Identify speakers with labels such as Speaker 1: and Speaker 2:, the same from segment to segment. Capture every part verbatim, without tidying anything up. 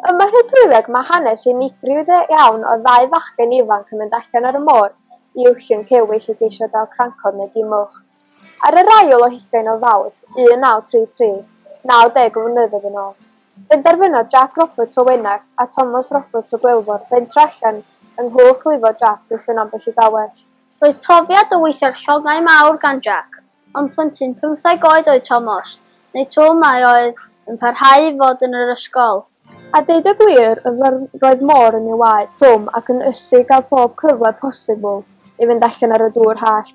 Speaker 1: Ym Mhydrwyddeg mae hanes unigryw iawn o ddau fachgen ifanc yn mynd allan ar y môr i wllwng cewyll i geisio dal crancod neu gimwch. Ar yr ail o hugain o Fawrth, un naw tri tri, naw deg o flynyddoedd yn ôl, penderfynodd Jack Roberts o Wenarth a Thomas Roberts o Gwilfor fentro allan yng nghwch lifo Jack i wllwng ambell i gawell.
Speaker 2: Roedd profiad o weithio'r llongau mawr gan Jack, ond plentyn pymtheg oed oedd Thomas, neu Twm a oedd yn parhau i fod yn yr ysgol.
Speaker 1: A deud y gwir, roedd môr yn ei waed Twm ac yn ysu gael pob cyfle posibl i fynd allan ar y dŵr hallt.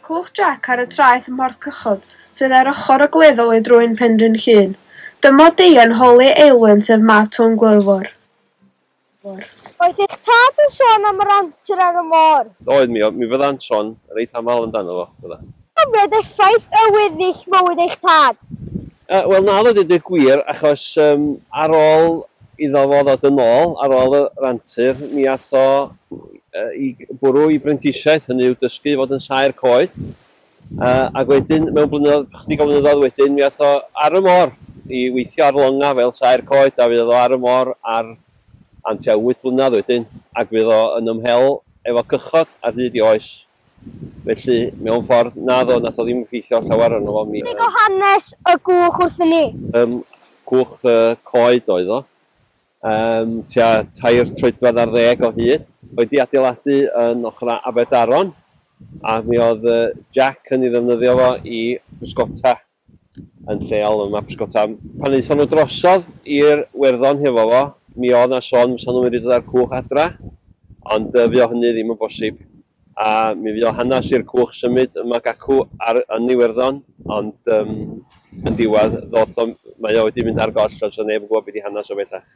Speaker 3: Cwch Jack ar y traeth ym Mhorth Cychod, sydd ar ochr ogleddol i drwyn Penrhyn Llŷn. Dyma Deian holi Aelwyn sef mab Twm Gwilfor.
Speaker 4: Oedd eich tad yn sôn am yr antur ar y môr?
Speaker 5: Oedd, mi, mi fydda'n sôn reit aml amdano fo, fydda.
Speaker 4: Cofiodd effaith y weddill mywyd eich tad?
Speaker 5: Uh, Wel, na, dweud y gwir, achos um, ar ôl iddo fo ddod yn ôl, ar ôl yr antur, mi ath o uh, i bwrw i brentisiaeth, hynny yw dysgu i fod yn saer coed. Uh, ac wedyn, mewn blynyddoedd, chydig o blynyddoedd wedyn, mi ath o ar y môr i weithio ar longa fel saer coed, a fydd o ar y môr ar am tua wyth blynedd wedyn, ac fydd o yn ymhel efo cychod ar hyd i oes. Felly, mewn ffordd, naddo, nath o ddim effeithio llawer arno fo. Mi,
Speaker 4: Chydig o hanes y gwch wrthyn ni.
Speaker 5: Um, cwch uh, coed oedd o. Um, tua tair troedfedd ar ddeg o hyd. Wedi adeiladu yn ochr Aberdaron, a mi oedd uh, Jack yn ei ddefnyddio fo i bysgota yn lleol yma pysgota. Pan aethon nhw drosodd i'r Werddon hefo fo, mi oedd na sôn fysa nhw'n mynd i dod â'r cwch adra, ond uh, fuo hynny ddim yn bosib. A mi fuo hanes i'r cwch symud yma gacw ar, yn Iwerddon, ond um, yn diwedd ddoth o, mae o wedi mynd ar goll, ond so neb yn gwybod beth i hanes o bellach.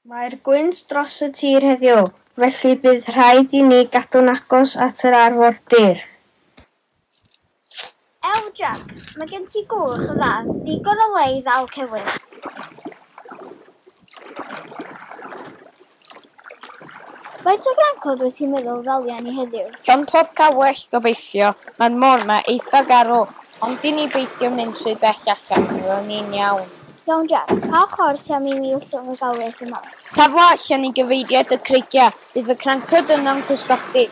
Speaker 6: Mae'r gwynt dros y tir heddiw, felly bydd rhaid i ni gadw'n agos at yr arfordir.
Speaker 2: Ew, Jack, mae gen ti gwch dda, digon o le i ddal cewyll. Faint o grancod wyt ti'n meddwl ddalia ni heddiw?
Speaker 6: Llond pob cawell, gobeithio. Mae'r môr 'ma eitha garw, ond i ni beidio mynd trwy bell allan, fyddwn ni'n iawn.
Speaker 2: Iawn, Jack, pa ochr ti am i mi wllwng y gawell yma?
Speaker 6: Tafla allan i gyfeiriad y creigiau, bydd y crancod yno'n cysgodi.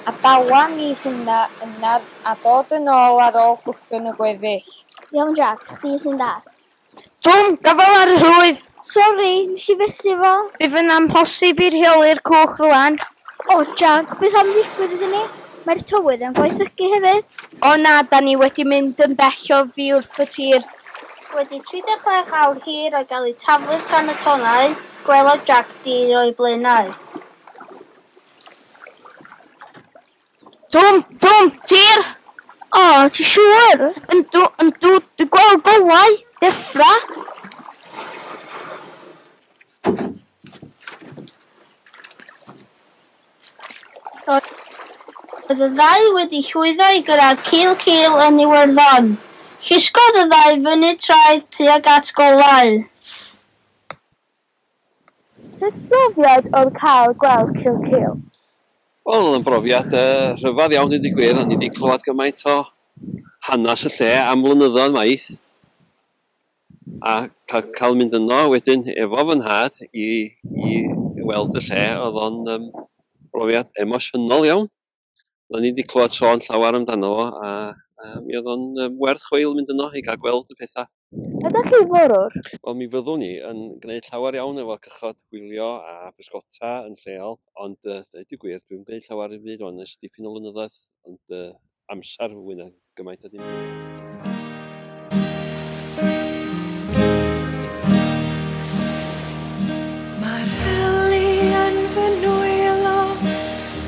Speaker 6: A dala ni hwnna yna a dod yn ôl ar ôl gwllwng y gweddill.
Speaker 2: Iawn, Jack, chdi sy'n dad.
Speaker 6: Twm, gafal ar y rhwydd!
Speaker 2: Sori, nes i fethu fo.
Speaker 6: Bydd yn amhosib i rheoli'r cwch rwan.
Speaker 2: O, Jack, beth am ddigwydd iddyn ni? Mae'r tywydd yn gwaethygu hefyd.
Speaker 6: O na, da ni wedi mynd yn bell o fi wrth y tir.
Speaker 2: Wedi tri deg chwech awr hir o gael ei taflu gan y tonnau, gwelodd Jack dir o'i blaenau.
Speaker 6: Twm, Twm, tir!
Speaker 4: O, ti siŵr?
Speaker 6: Yndw, yndw, dwi'n gweld golau, deffra.
Speaker 2: Roedd y ddau wedi llwyddo i gyrraedd cil cil yn Iwerddon. Llusgodd y ddau fyny traeth tuag at golau.
Speaker 1: Sut brofiad oedd cael gweld Cilcil?
Speaker 5: Wel, oedd yn brofiad uh, rhyfedd iawn, dweud y gwir. O'n i wedi clywed gymaint o hanes y lle am flynyddoedd maith. A cael, cael mynd yno wedyn efo fy nhad i, i weld y lle, oedd o'n um, brofiad emosiynol iawn. O'n i wedi clywed sôn llawer amdano fo, a, a mi oedd o'n um, werth chweil mynd yno i gael gweld y pethau.
Speaker 1: Ydych chi forwr?
Speaker 5: Wel, mi fyddwn ni yn gwneud llawer iawn efo cychod gwylio a pysgota yn lleol, ond uh, dweud y gwir, dwi'n gwneud llawer i fyd o'n ers dipyn o flynyddoedd, ond uh, amser fwy na gymaint o dim byd.
Speaker 7: Mae'r heli yn fy nwylo,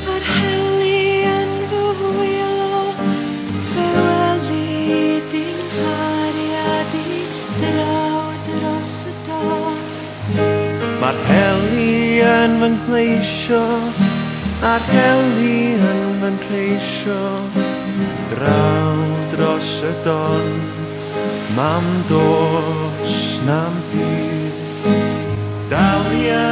Speaker 7: mae'r heli yn fy hwylo, fe weli di'n nghariad i draw dros y don.
Speaker 8: Mae'r heli yn fy nghleisio, a'r heli yn fy nhreisio, draw dros y don, mam dos na'm byd. Dalia